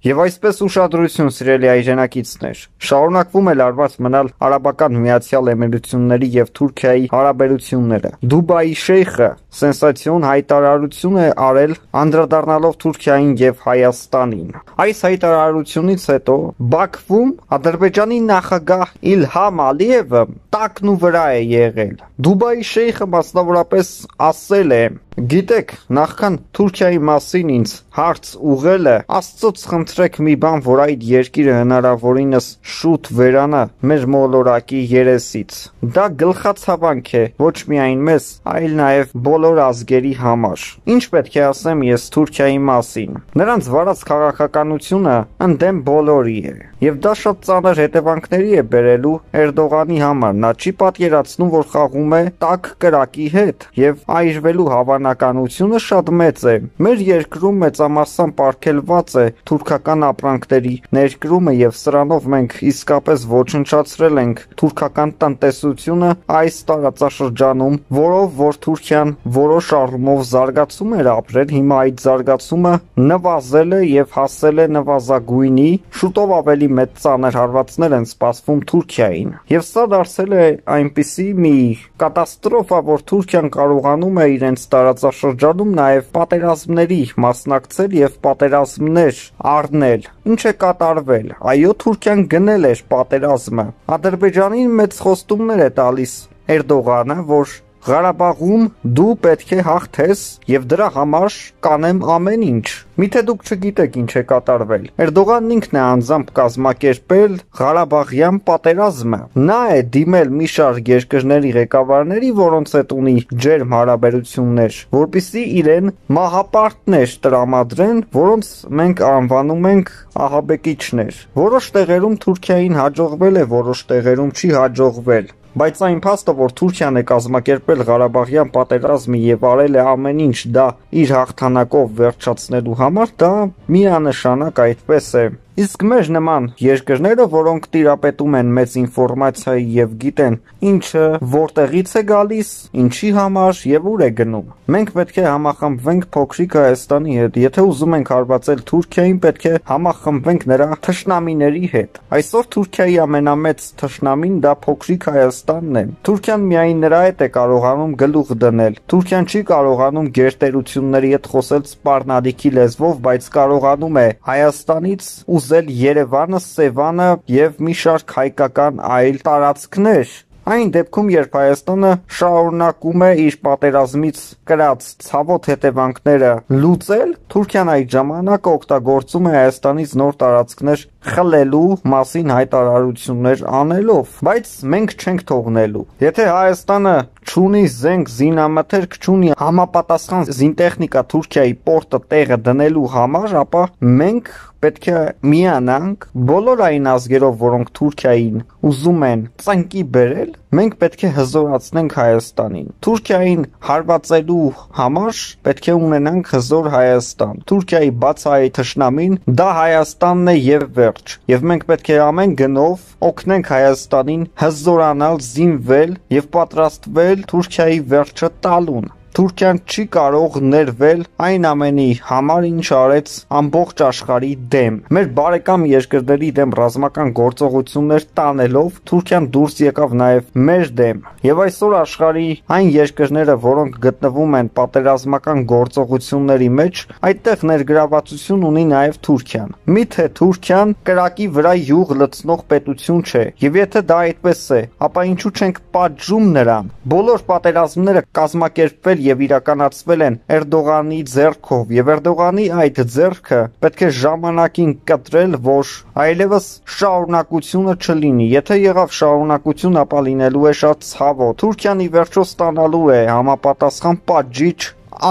Եվ այսպես ուշադրություն սիրելի հայրենակիցներ, շարունակվում է լարված մնալ Արաբական Միացյալ Էմիրությունների և Թուրքիայի հարաբերությունները։ Դուբայի շեյխը սենսացիոն հայտարարություն է արել անդրադառնալով Թուրքիային և Հայաստանին։ Այս հայտարարությունից հետո Բաքվում Ադրբեջանի նախագահ Իլհամ Ալիևը տակն ու վրա է եղել։ Դուբայի շեյխը մասնավորապես ասել է. «Գիտեք, նախքան Թուրքիայի մասին ինձ հարց ուղղելը, Աստծոց խնդրեք մի բան, որ այդ երկիրը հնարավորինս շուտ վերանա մեր մոլորակի երեսից։ Դա գլխացավանք է ոչ միայն մեզ, այլ նաև բոլոր ազգերի համար։ Ինչ պետք է ասեմ ես Թուրքիայի մասին։ Նրանց վարած քաղաքականությունը ընդդեմ բոլորի է, եւ դա շատ ծանր հետևանքների է բերելու Էրդողանի համար։ Նա չի պատկերացնում, որ խաղում է տաք կրակի հետ, եւ այրվելու հավանականությունը շատ մեծ է։ Մեր երկրում մեծամասամբ արգելված է թուրքական ապրանքների ներկրումը, եւ սրանով մենք իսկապես ոչնչացրել ենք թուրքական տնտեսությունը այս տարածաշրջանում, որով որ Թուրքիան որոշ առումով զարգացում էր ապրել, հիմա այդ զարգացումը նվազել է եւ հասել է նվազագույնի, շուտով ավելի մեծ ծանր հարվածներ են սպասվում Թուրքիային։ Եվ սա դարձել է այնպիսի մի կատաստրոֆա, որ Թուրքիան կարողանում է իրենց տարածաշրջանում նաև պատերազմների մասնակցել եւ պատերազմներ առնել։ Ինչ է կատարվել։ Այո, Թուրքիան գնել էր պատերազմը։ Ադրբեջանին մեծ խոստումներ է տալիս Էրդողանը, որ Ղարաբաղում դու պետք է հաղթես եւ դրա համար կանեմ ամեն ինչ։ Միթե դուք չգիտեք ինչ է կատարվել։ Էրդողանն ինքն է անձամբ կազմակերպել Ղարաբաղյան պատերազմը։ Նա է դիմել մի շարք երկրների ղեկավարների, որոնց հետ ունի ջերմ հարաբերություններ, որպիսի իրեն մահապարտներ տրամադրեն, որոնց մենք անվանում ենք ահաբեկիչներ։ Որոշ տեղերում Թուրքիային հաջողվել է, որոշ տեղերում չի հաջողվել։ Բայց այն փաստը, որ Թուրքիան է կազմակերպել Ղարաբաղյան պատերազմը եւ արել է ամեն ինչ դա իր հաղթանակով վերջացնելու համար, դա միանշանակ այդպես է։ Իսկ մեր նման երկրները, որոնք տիրապետում են մեծ ինֆորմացիայի եւ գիտեն ինչը որտեղից է գալիս, ինչի համար եւ ուր է գնում։ Մենք պետք է համախմբվենք փոքրիկ Հայաստանի հետ։ Եթե ուզում ենք հարվածել Թուրքիային, պետք է համախմբվենք նրա թշնամիների հետ։ Այսօր Թուրքիայի ամենամեծ թշնամին դա փոքրիկ Հայաստանն է։ Թուրքիան միայն նրա հետ է կարողանում գլուխ դնել։ Թուրքիան չի կարողանում գերտերությունների հետ խոսել սպառնալիքի լեզվով, բայց կարողանում է Հայաստանից ուզել Երևանը, Սևանը եւ մի շարք հայկական այլ տարածքներ։ Այն դեպքում, երբ Հայաստանը շարունակում է իր պատերազմից կրած ցավոտ հետևանքները լուծել, Թուրքիան այդ ժամանակ օգտագործում է Հայաստանից նոր տարածքներ խլելու մասին հայտարարություններ անելով, բայց մենք չենք թողնելու։ Եթե Հայաստանը չունի զենք, զինամթերք, չունի համապատասխան զինտեխնիկա Թուրքիայի պորտը տեղը դնելու համար, ապա մենք պետք է միանանք բոլոր այն ազգերով, որոնք Թուրքիային ուզում են ծնկի բերել, մենք պետք է հզորացնենք Հայաստանին։ Թուրքիային հարվածելու համար պետք է ունենանք հզոր Հայաստան։ Թուրքիայի բացահայտ թշնամին դա Հայաստանն է եւ վերջ։ Եվ մենք պետք է ամեն գնով օգնենք Հայաստանին հզորանալ, զինվել եւ պատրաստվել Թուրքիայի վերջը տալուն։ Թուրքիան չի կարող ներվել այն ամենի համար, ինչ արեց ամբողջ աշխարհի դեմ։ Մեր բարեկամ երկրների դեմ ռազմական գործողություններ տանելով Թուրքիան դուրս եկավ նաև մեր դեմ։ Եվ այսօր աշխարհի այն երկրները, որոնք գտնվում են պատերազմական գործողությունների մեջ, այդտեղ ներգրավվածություն ունի նաև Թուրքիան։ Միթե Թուրքիան կրակի վրա յուղ լցնող պետություն չէ։ Եվ եթե դա այդպես է, ապա ինչու չենք պատժում նրան։ Բոլոր պատերազմները կազմակերպվել եւ իրականացվել են Էրդողանի ձեռքով եւ Էրդողանի այդ ձեռքը պետք է ժամանակին կտրել, որ այլևս շարունակությունը չլինի։ Եթե եղավ շարունակություն, ապա լինելու է շատ ցավոտ։ Թուրքիան ի վերջո ստանալու է համապատասխան պատժիչ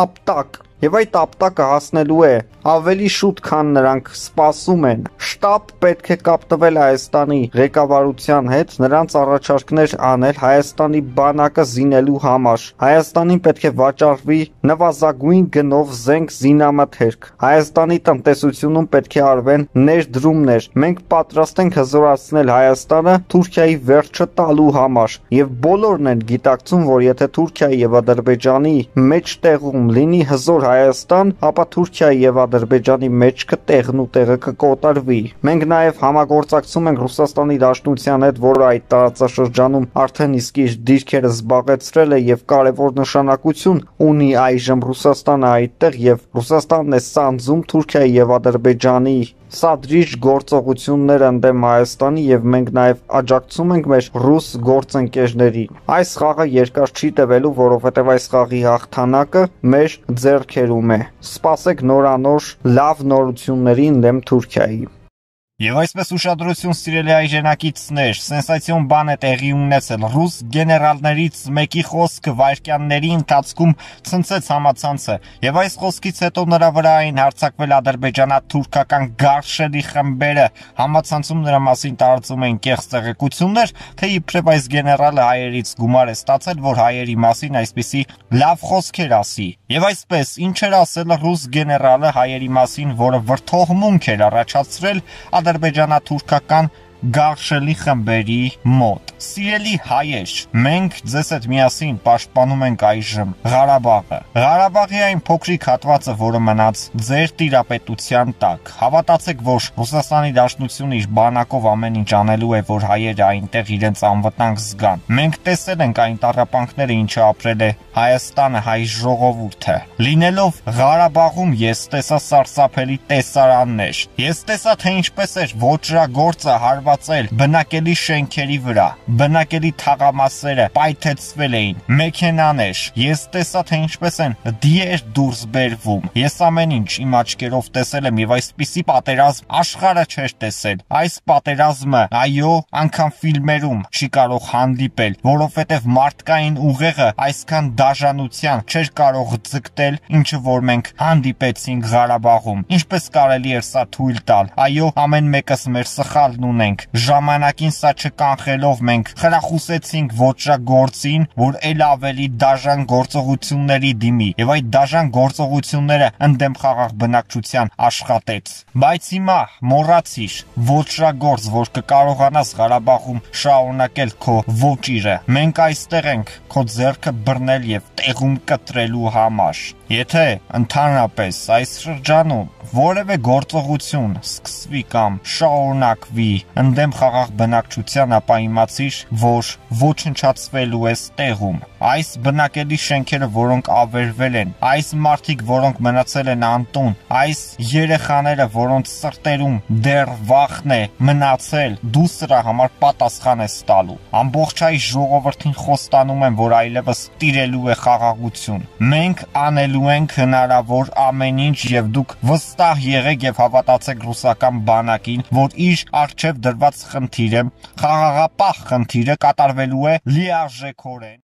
ապտակ։ Եվ այդ ապտակը հասնելու է ավելի շուտ, քան նրանք սպասում են։ Շտապ պետք է կապտվել Հայաստանի ղեկավարության հետ, նրանց առաջարկներ անել Հայաստանի բանակը զինելու համար։ Հայաստանին պետք է վաճառվի նվազագույն գնով զենք, զինամթերք։ Հայաստանի տնտեսությունում պետք է արվեն ներդրումներ։ Մենք պատրաստ ենք հզորացնել Հայաստանը Թուրքիայի վերջը տալու համար։ Եվ բոլորն են գիտակցում, որ եթե Թուրքիայի եւ Ադրբեջանի մեջտեղում լինի հզոր Հայաստան, ապա Թուրքիայի եւ Ադրբեջանի մեջքը տեղն ու տեղը կկոտարվի։ Մենք նաեւ համագործակցում ենք Ռուսաստանի Դաշնության հետ, որը այդ տարածաշրջանում արդեն իսկ իր դիրքերը զբաղեցրել է եւ կարեւոր նշանակություն ունի այժմ Ռուսաստանը այդտեղ եւ Ռուսաստանն է սանձում Թուրքիայի եւ Ադրբեջանի սադրիչ գործողություններ ընդդեմ Հայաստանի եւ մենք նաեւ աջակցում ենք մեր ռուս գործընկերներին։ Այս խաղը երկար չի տևելու, որովհետեւ այս խաղի հաղթանակը մեր ձեռքերում է։ Սպասեք նորանոր լավ նորությունների ընդդեմ Թուրքիայի։ Եվ այսպես ուշադրություն սիրելի այժենակիցներ, սենսացիոն բան է տեղի ունեցել։ Ռուս գեներալներից մեկի խոսքը վայրկյանների ընթացքում ցնցեց համացանցը, եւ այս խոսքից հետո նրա վրա էին հարձակվել ադրբեջանա-թուրքական գարշելի խմբերը։ Համացանցում նրա մասին տարածում էին կեղծ տեղեկություններ, թե իբրև այս գեներալը հայերից գումար է ստացել, որ հայերի մասին այսպիսի լավ խոսքեր ասի։ Եվ այսպես, ինչ էր ասել ռուս գեներալը հայերի մասին, որը վրթողմունք էր առաջացրել ադրբեջանա-թուրքական գարշելի խմբերի մոտ։ Սիրելի հայեր, մենք ձեզ հետ միասին պաշտպանում ենք այժմ Ղարաբաղը։ Ղարաբաղի այն փոքրիկ հատվածը, որը մնաց ձեր տիրապետության տակ։ Հավատացեք, որ Ռուսաստանի Դաշնությունը իր բանակով ամեն ինչ անելու է, որ հայերը այնտեղ իրենց անվտանգ զգան։ Մենք տեսել ենք այն տառապանքները, ինչը ապրել է Հայաստանը, հայ ժողովուրդը։ Լինելով Ղարաբաղում ես տեսա սարսափելի տեսարաններ։ Ես տեսա, թե ինչպես էր ոճրագործը հարվածել բնակելի շենքերի վրա, բնակելի թաղամասերը պայթեցվել էին, մեքենաներ։ Ես տեսա, թե ինչպես են դիեր դուրս բերվում։ Ես ամեն ինչ իմ աչքերով տեսել եմ եւ այսպիսի պատերազմ աշխարհը չէր տեսել։ Այս պատերազմը, այո, անգամ ֆիլմերում չի կարող հանդիպել, որովհետեւ մարդկային ուղեղը այսքան դաժանության չէր կարող ձգտել, ինչը որ մենք հանդիպեցինք Ղարաբաղում։ Ինչպես կարելի էր սա թույլ տալ։ Այո, ամեն մեկս մեր սխալն ունենք։ Ժամանակին սա չկանխելով մենք խրախուսեցինք ոճրագործին, որ ել ավելի դաժան գործողությունների դիմի, եւ այդ դաժան գործողությունները ընդդեմ խաղաղ բնակչության աշխատեց։ Բայց հիմա մոռացիր, ոճրագործ, որ կկարողանաս Ղարաբաղում շարունակել քո ոճիրը։ Մենք այստեղ ենք քո ձեռքը բռնել եւ տեղում կտրելու համար։ Եթե ընդհանրապես այս շրջանում որևէ գործողություն սկսվի կամ շարունակվի ընդդեմ խաղաղ բնակչության, ապա իմացիր, որ ոչնչացվելու ես տեղում։ Այս բնակելի շենքերը, որոնք ավերվել են, այս մարդիկ, որոնք մնացել են անտուն, այս երեխաները, որոնց սրտերում դեռ վախն է մնացել, դու սրա համար պատասխան ես տալու։ Ամբողջ հայ ժողովրդին խոստանում եմ, որ այլևս տիրելու է խաղաղություն։ Մենք անելու ենք հնարավոր ամեն ինչ եւ դուք վստահ եղեք եւ հավատացեք ռուսական բանակին, որ իր առջև դրված խնդիրը, խաղաղապահ խնդիրը կատարվելու է լիարժեքորեն։